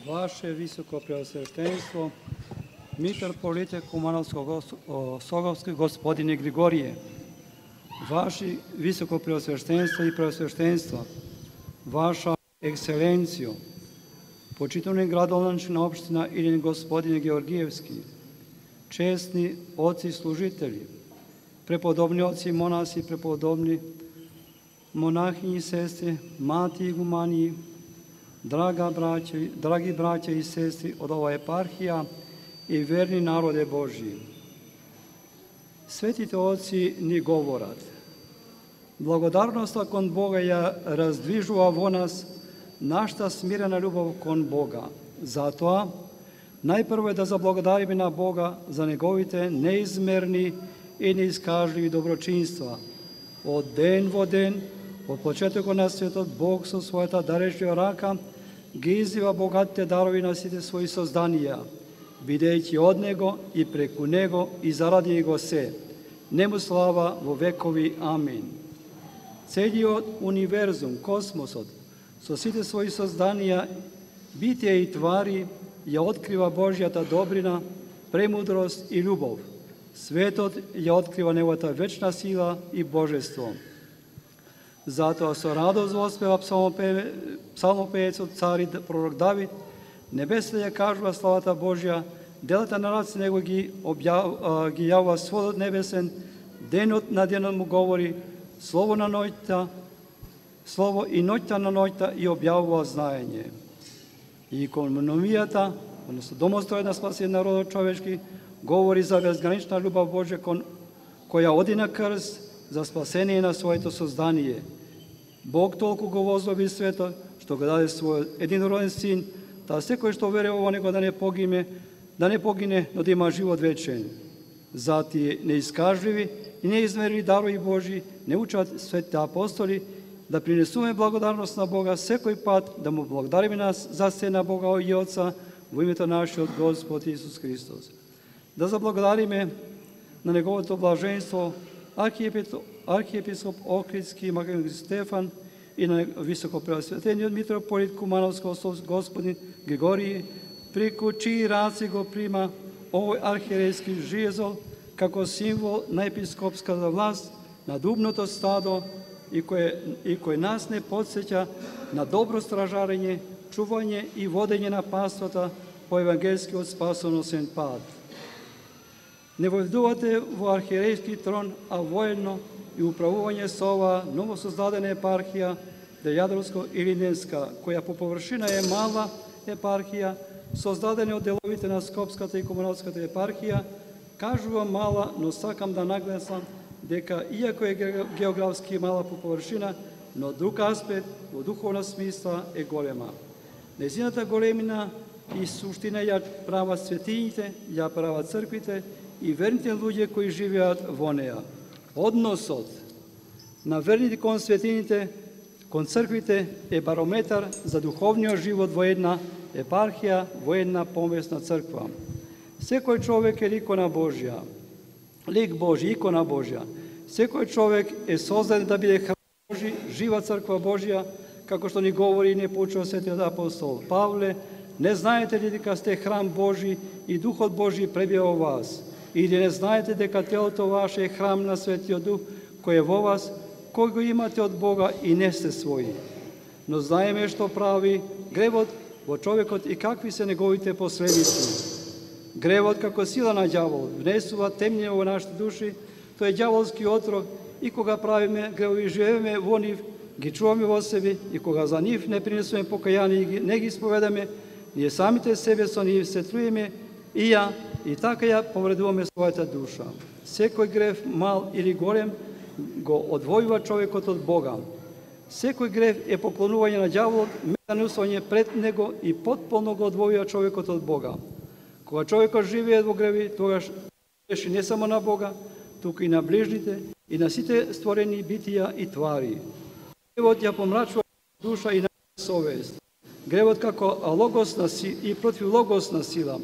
Ваше високо преосвещенство, митрополите Кумановско-Соговски господине Григорije, Ваше високо преосвещенство и преосвещенство, Ваша екселенциjo, почитувани градоначалник општина Илин господине Георгиевски, честни отци служители, преподобни отци монаси, преподобни монахини и сестри, мати игумании, драги браќа и сестри од ова епархија и верни народе Божји. Светите отци ни говорат. Благодарноста кон Бога ја раздвижува во нас нашата смирена љубов кон Бога. Затоа, најпрво е да заблагодариме на Бога за неговите неизмерни и неискажливи доброчинства. Од ден во ден, од почетокот на светот, Бог со својата дарежлива рака ги извива богатите дарови на сите своји созданија, бидејќи од Него и преку Него и заради Него се. Нему слава во векови. Амин. Целиот универзум, космосот, со сите своји созданија, битија и твари, ја открива Божјата добрина, премудрост и љубов. Светот ја открива неговата вечна сила и божество. Затоа со радост воспева псалмопеецот цари пророк Давид, небесите ја кажува славата Божја, делата на раците него ги јавува сводот небесен, денот на денот му говори, слово и ноќта на ноќта и објавува знаење. И икономијата, односно домостројот на спасен народот човечки, говори за безгранична љубов Божја која оди на крст за спасение на своето создание. Бог толку го возлюби светот, што го даде својот единороден син, да секој што верува во него да не погине, но да има живот вечен. За тие неискажливи и неизмерни дарови Божји не учат светите апостоли да принесуваме благодарност на Бога секој пат, да му благодариме нас за се на Бога и Отца во името нашиот Господ Исус Христос. Да заблагодариме на неговото блаженство архиепископ Охридски Македонски Стефан и на високо преосветениот митрополит Кумановско господин Григорije, преку чии раци го прима овој архиерейски жезл како символ на епископската власт на дубното стадо и кој нас не подсеќа на добро стражарење, чување и водење на паствата по евангелскиот спасоносен пат. Не војдувате во архиерейски трон, а воено и управување со ова новосоздадена епархија Дејадровско-Илиненска, која по површина е мала епархија, создадена од деловите на Скопската и Кумановската епархија, кажува мала, но сакам да нагласам дека иако е географски мала по површина, но друг аспект во духовна смисла е голема. Нејзината големина и суштина ја прават светињите, ја прават црквите и верните луѓе кои живеат во неа. Односот на верните кон светињите, кон црквите е барометар за духовниот живот во една епархија, во една помесна црква. Секој човек е икона Божја, лик Божи, икона Божја. Секој човек е создаден да биде храм Божи, жива црква Божја, како што ни говори и не поучува светиот апостол Павле, не знаете ли дека сте храм Божи и Духот Божи пребива во вас? Или не знаете дека телото ваше е храм на Светиот Дух кој е во вас, кој го имате од Бога и не сте своји? Но знаеме што прави гревот во човекот и какви се неговите последици. Гревот како сила на ѓавол внесува темнина во нашите души, тој е ѓаволски отров и кога правиме гревови живееме во нив, ги чуваме во себе и кога за нив не принесуваме покаяние и не ги исповедаме, ние самите себе со нив се труиме и така ја повредуваме својата душа. Секој грев, мал или голем, го одвојува човекот од Бога. Секој грев е поклонување на ѓаволот, метанесување пред него и потполно го одвојува човекот од Бога. Кога човекот живее во греви, тогаш греши не само на Бога, туку и на ближните и на сите створени битија и твари. Гревот ја помрачува душа и на совест. Гревот како логосна и противлогосна сила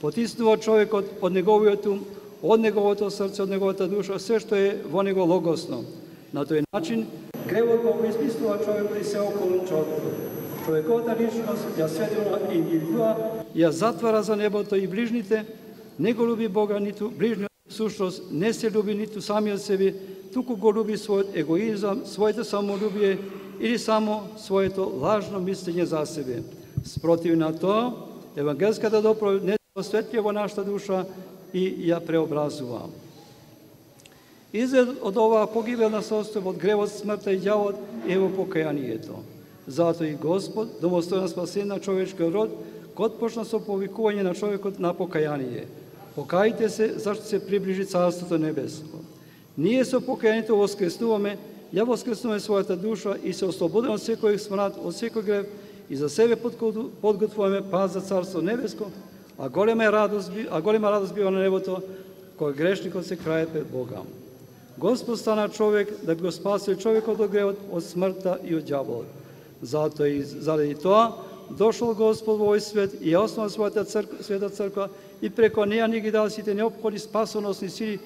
потиснува човекот од неговиот ум, од неговото срце, од неговата душа, се што е во него логосно. На тој начин, гревот го обезмислува човекот и се околу човекот. Човековата личност ја сведува индивидуа, ја затвара за небото и ближните, не го люби Бога, ниту ближниот, сушност не се люби ниту самиот себе, туку го люби својот егоизам, своето самолюбие или само своето лажно мислење за себе. Спротив на тоа, евангелската доповед не се осветлива во нашата душа и ја преобразува. Изглед од оваа погибелна состојба, од гревот, смртта и ѓавот е во покајанието. Затоа и Господ, домостоен спасен на човечкиот род, го отпочна со повикување на човекот на покаяние. Покајте се, зашто се приближи Царството Небеско. Ние со покајанието воскреснуваме, ја воскреснуваме својата душа и се ослободиме од секој смрад, од секој грев и за себе подготвуваме пат за Царство Небеско, а голема радост бива на небото, кој грешникот се краје пред Бога. Господ стана човек да би го спасил човекот од гревот, од смртта и од ѓаволот. Затоа и заради тоа дошол Господ во овој свет и ја основа својата света црква и преко неја ни ги дава сите неопходни спасоносни сили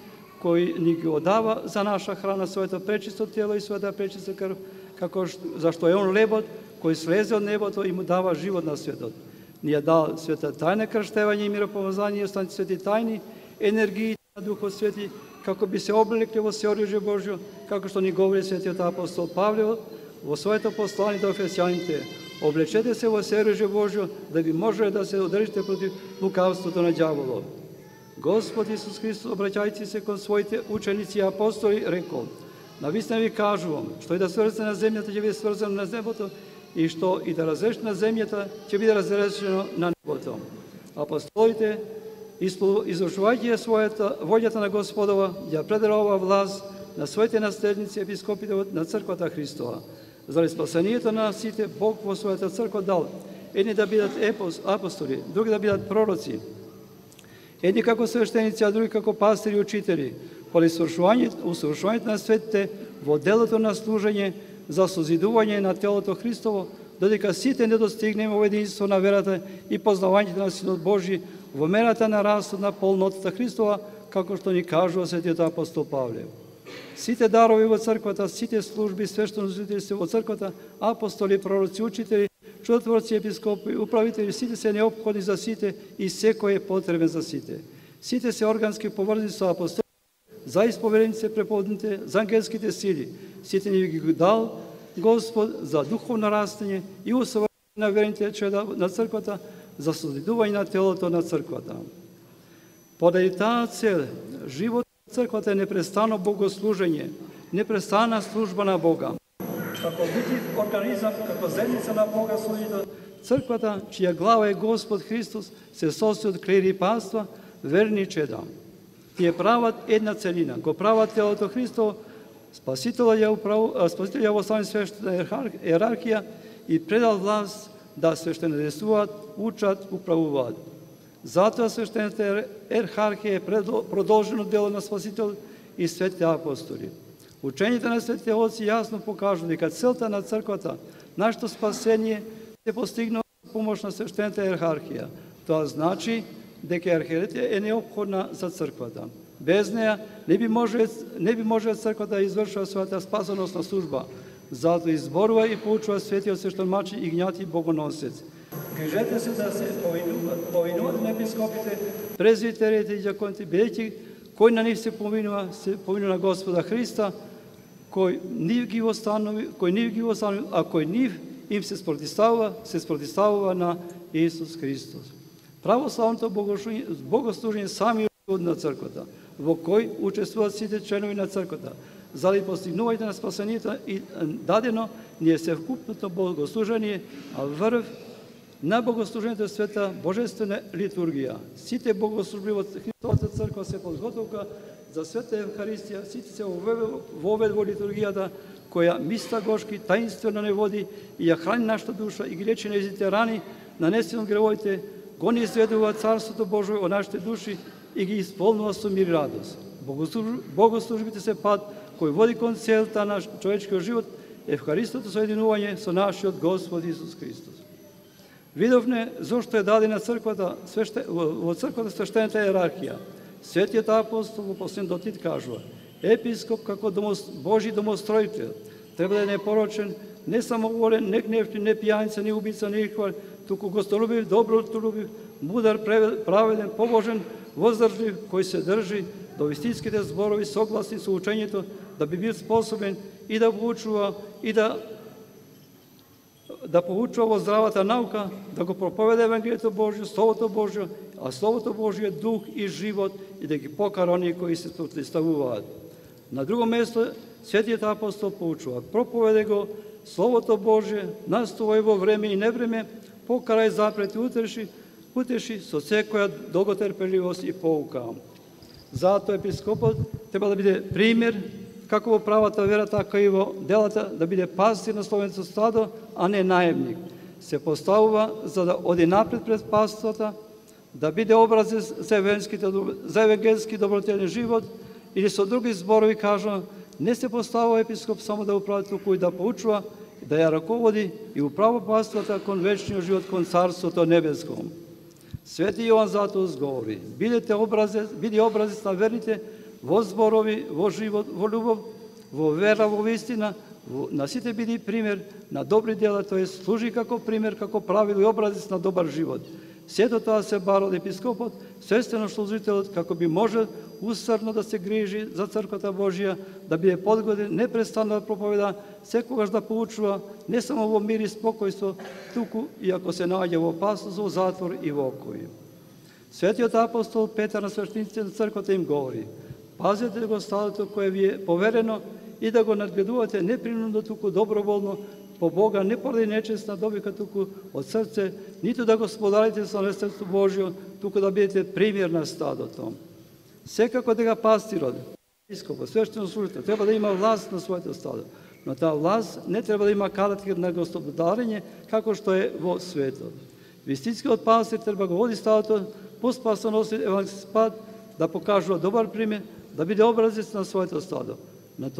кои ни ги одава за наша храна своето пречисто тело и својата пречиста крв, како зашто е он лебот кој слезе од небото и му дава живот на светот. Ни ја дал света тајна крштевање и миропомазање и останати свети тајни енергии на Духот Свети, како би се облекле во сеоружје Божјо, како што ни говори светиот апостол Павле во своето послание до Ефесјаните. Облечете се во сеоружје Божјо, да би можеле да се одржите против лукавството на ѓаволот. Господ Исус Христос, обраќајќи се кон своите ученици и апостоли, рекол: навистина ви кажувам, што и да сврзете на земјата, ќе биде сврзано на небото, и што и да разрешите на земјата, ќе биде разрешено на небото. Апостолите, извршувајќи својата волјата на Господова, ја предарува власт на своите наследници, епископите на црквата Христова. Заради спасението на сите, Бог во својата црква дал едни да бидат апостоли, други да бидат пророци, едни како свештеници, а други како пастири и учители, поради усовршувањето на светите во делото на служење за созидување на телото Христово, додека сите не достигнеме во единство на верата и познавањето на Синот Божи во мерата на растот на полнотата Христова, како што ни кажува светиот апостол Павле. Сите дарови во црквата, сите служби, свештенослужители во црквата, апостоли, пророци, учители, чудотворци, епископи, управители, сите се неопходни за сите и секој е потребен за сите. Сите се органски поврзани со апостоли, за исповедениците, преповедните, за ангелските сили. Сите ни ги дал Господ за духовно растење и усовршување на верните чеда на црквата, за созидување на телото на црквата. Поради таа цел, живот на црквата е непрестано богослужење, непрестана служба на Бога. Како видлив организам, како земјица на Бога служител, црквата, чија глава е Господ Христос, се состои од клери и паства, верни чеда. Тие прават една целина, го прават телото Христово, Спасителот ја остави свештена иерархија и предал власт да свештенодействуваат, учат, управуваат. Затоа свештената иерархија е продолжено дело на Спасител и светите апостоли. Учењето на светите отци јасно покажува дека целта на црквата, нашето спасение, се постигнува со помош на свештената иерархија. Тоа значи дека иерархијата е неопходна за црквата. Без неја не би можела црквата да извршува својата спасоносна служба. Затоа изборува и поучува светиот свештомачи Игнати Богоносец. Грижете се да се повинуват на епископите, презвитерите и ѓаконите, бидејќи кој на нив се повинува на Господа Христа, кој нив ги останови, а кој нив им се спротивставува на Исус Христос. Православното богослужење сами од на црквата, во кој учествуваат сите членови на црквата. Заради постигнувањето на спасението и дадено ни е севкупното богослужение, а врв на богослужението е света божествена литургија. Сите богослужби во Христовата црква се подготовка за света Евхаристија, сите се вовед во литургијата, која мистагошки таинствено не води и ја храни нашата душа и ги лечи нејзите рани, нанесени од гревовите, го ни изведува Царството Божие од нашите души и ги исполнува со мир и радост. Богослужбите се пат кој води кон целта на човечкиот живот, Евхаристото соединување со нашиот Господ Исус Христос. Видовме зошто е дадена црквата, во црквата свештената иерархија. Светиот апостол во последен дотит кажува: епископ како Божи домостроител треба да е непорочен, не самоволен, не гневни, не пијаница, не убица, не лихвар, туку гостолюбив, добротолюбив, мудар, праведен, побожен, воздржлив, кој се држи до вистинските зборови, согласни со учењето, да би бил способен и да поучува, и да поучува во здравата наука, да го проповеда Евангелието Божјо, Словото Божјо, а Словото Божјо е дух и живот, и да ги покара оние кои се противставуваат. На друго место, светиот апостол поучува: проповеде го Словото Божје, настувај во време и невреме, покарај, запрети, утеши со секоја долготерпеливост и поука. Затоа епископот треба да биде пример, како во правата вера, така и во делата, да биде пастир на словенцето стадо, а не наемник. Се поставува за да оди напред пред паствата, да биде образец за евангелски добротелен живот, или со други зборови кажа, не се поставува епископ само да управи, туку и да поучува, да ја раководи и управа паствата кон вечниот живот, кон Царството небеско. Свети Јован затоа говори: биди образец на верните во зборови, во живот, во љубов, во вера, во вистина, на сите биди пример на добри дела, тоа служи како пример, како правило и образец на добар живот. Сето тоа се бара од епископот, свестено служителот, како би можел усрдно да се грижи за црквата Божја, да биде подгоден, непрестанно да проповеда, секогаш да поучува, не само во мир и спокојство, туку и ако се наоѓа во опасност, во затвор и во окои. Светиот апостол Петар на свештениците на црквата им говори: пазете го стадото кое ви е поверено и да го надгледувате не принудно, туку доброволно, по Бога, не поради нечестна добивка, туку од срце, ниту да го споделите со наследството Божјо, туку да бидете пример на стадото. Секако дека пастирот, епископот, свештено служител, треба да има власт на своето стадо, но таа власт не треба да има карактер на господарење, како што е во светот. Вистинскиот пастир треба го води стадото по спасоноси евангелски пат, да покажува добар пример, да биде образец на своето стадо. На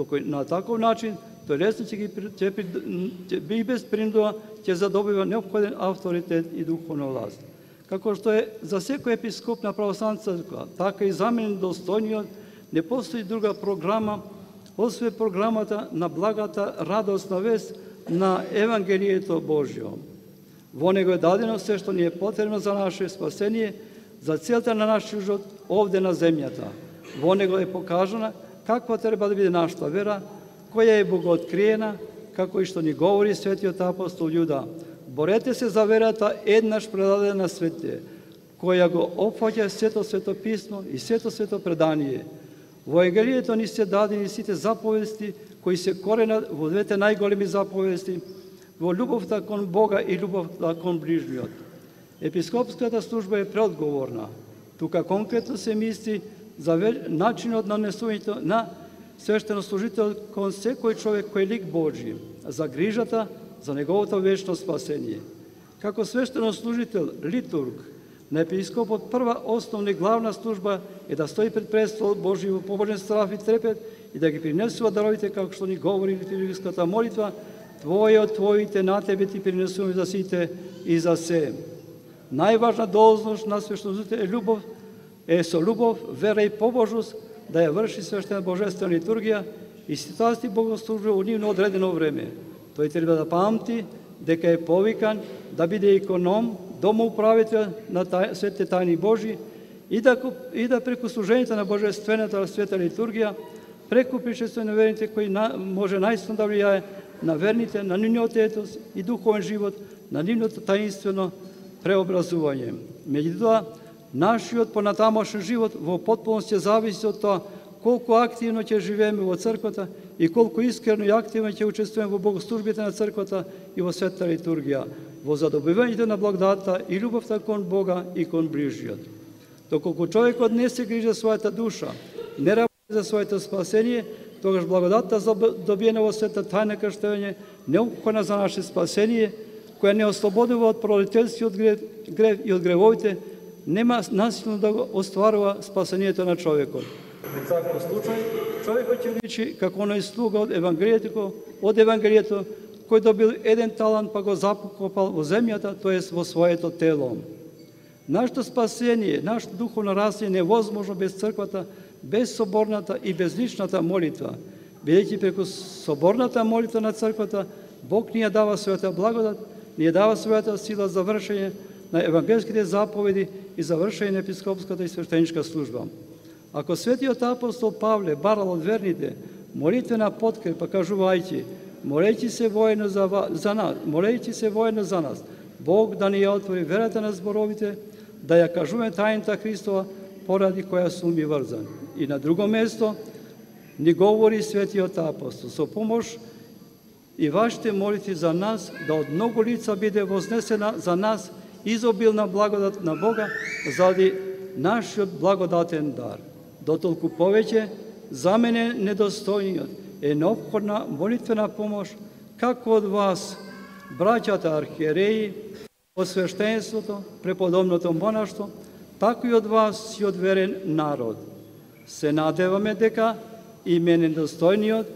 таков начин тој лесно ќе би без принуда ќе задобива неопходен авторитет и духовна власт. Како што е за секој епископ на православна црква, така и за мене достојниот, не постои друга програма, освен програмата на благата радосна вест на Евангелието Божјо. Во него е дадено се што ни е потребно за наше спасение, за целта на нашиот живот овде на земјата. Во него е покажана каква треба да биде нашата вера, која е богооткриена, како и што ни говори светиот апостол Јуда: борете се за верата еднаш предадена на свете, која го опфаќа сето свето писмо и сето свето предание. Во Евангелието ни се дадени сите заповести кои се коренат во двете најголеми заповести, во љубовта кон Бога и љубовта кон ближниот. Епископската служба е преодговорна. Тука конкретно се мисли за начинот на несувањето на свештенослужител кон секој човек кој е лик Божи, за грижата за неговото вечно спасение. Како свештенослужител, литург на епископот, прва основна и главна служба е да стои пред престол Божи во побожен страх и трепет и да ги принесува даровите, како што ни говори литургиската молитва: Твое од Твоите на Тебе ти принесуваме за сите и за се. Најважна должност на свештенослужител е љубов, со љубов, вера и побожност да ја врши свештена божествена литургија и ситуации богослужба во нивно одредено време. Тој треба да памти дека е повикан да биде економ, домоуправител на светите тајни Божи и да преку служењето на божествената света литургија, преку присуствие на верните кои може наистина да влијае на верните, на нивниот етос и духовен живот, на нивното таинствено преобразување. Меѓутоа, нашиот понатамошен живот во потполност ќе зависи од тоа колку активно ќе живееме во црквата и колку искрено и активно ќе учествуваме во богослужбите на црквата и во светата литургија, во задобивањето на благодата и љубовта кон Бога и кон ближниот. Доколку човекот не се грижи за својата душа, не работи за своето спасение, тогаш благодатта добиена во светата тајна крштевање, неопходна за наше спасение, која не ослободува од пролетелскиот грев и од гревовите, нема насилно да го остварува спасението на човекот. Во таков случај, човекот ќе личи како оној слуга од Евангелието, кој добил еден талант па го закопал во земјата, тоест во своето тело. Нашето спасение, нашето духовно развитие не е возможно без црквата, без соборната и без личната молитва, бидејќи преку соборната молитва на црквата Бог ни ја дава својата благодат, ни ја дава својата сила за вршење на евангелските заповеди и за вршење на епископската и свештеничка служба. Ако светиот апостол Павле барал од верните молитвена подкрепа, кажувајќи: молејќи се воено за нас, Бог да ни ја отвори верата на зборовите, да ја кажуваме тајната Христова, поради која сум и врзан. И на друго место ни говори светиот апостол: со помош и вашите молитви за нас, да од многу лица биде вознесена за нас изобилна благодат на Бога заради нашиот благодатен дар. Дотолку повеќе, за мене недостојниот е неопходна молитвена помош, како од вас, браќата архиереи, од свештенството, преподобното монаштво, така и од вас си одверен народ. Се надеваме дека и мене недостојниот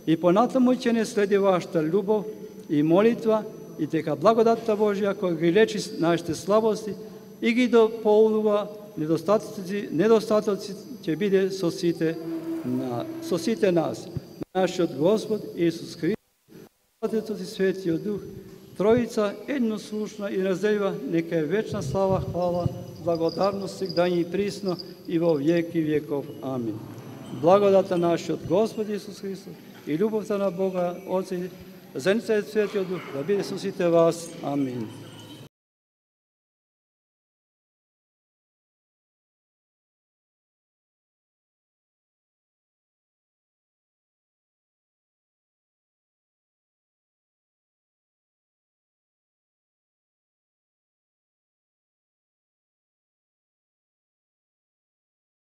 и понатаму ќе не следи вашата љубов и молитва, и дека благодатта Божја која ги лечи нашите слабости и ги дополнува недостатоци ќе биде со сите нас. Нашиот Господ Исус Христос, Отецот и Светиот Дух, Троица еднослушна и разделива, нека е вечна слава, хвала, благодарност сегда и присно и во веки веков. Амин. Благодата нашиот Господ Исус Христос и љубовта на Бога Отца и Светиот Дух да биде со сите вас. Амин.